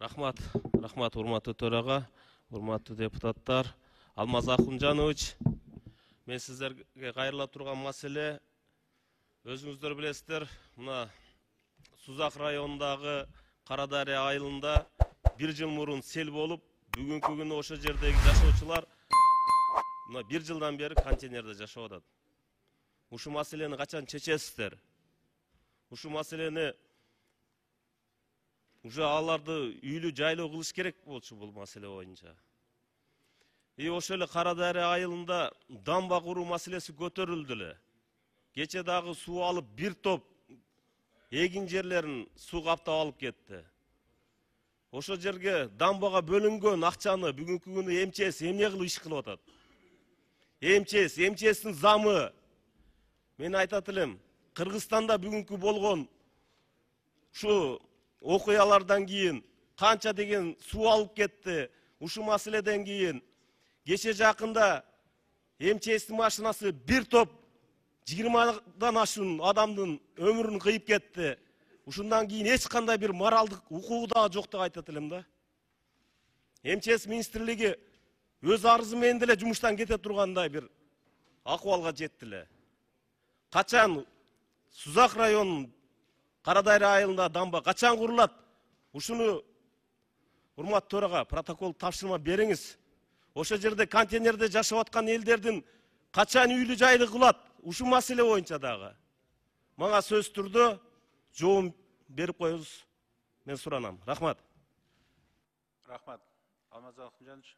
Рахмат, урматтуу төрага, урматтуу депутаттар. Алмаз Ахунжанович, мен сиздерге кайрыла турган маселе, өзүңүздөр билесиздер, мына Сузак районундагы Карадария айылында 1 жыл мурун сел болуп, бүгүнкү күнү ошо жердеги жашоочулар мына 1 жылдан бери контейнерде жашап атат. Ушу маселени качан чечесиздер? Ушу маселени уже аларды үйлүү жайлоо кылыш керек болчу бул маселе боюнча. Ошо эле Карадария айылында дамба куруу маселеси көтөрүлдү эле. Кече дагы суу алып бир топ эгин жерлерин суу каптап алып кетти. Ошо жерге дамбага бөлүнгөн акчаны бүгүнкү күнү МЧС эмне кылып иш кылып атат? МЧСтин замы мен айтат элем, Кыргызстанда бүгүнкү болгон ушу окуялардан кийин канча деген суу алып кетти. Ушу маселеден кийин кече жакында МЧСтин машинасы бир топ 20-дан ашуун адамдын өмүрүн кыйып кетти. Ушундан кийин эч кандай бир моралдык укугу дагы жок деп айтат элем да. МЧС министрлиги өз арызы менен деле жумуштан кете тургандай бир акыбалга жетти эле. Качан Сузак районунун Карадария айылында дамба качан курулат? Ушуну урматтуу төрага протокол тапшырма бериңиз. Ошо жерде контейнерде жашап аткан элдердин качан үйлүү жайлы кылат? Ушу маселе боюнча дагы мага сөз түрдө жооп берип коюңуз, мен суранам. Рахмат. Рахмат. Алмаз Ахунжанович.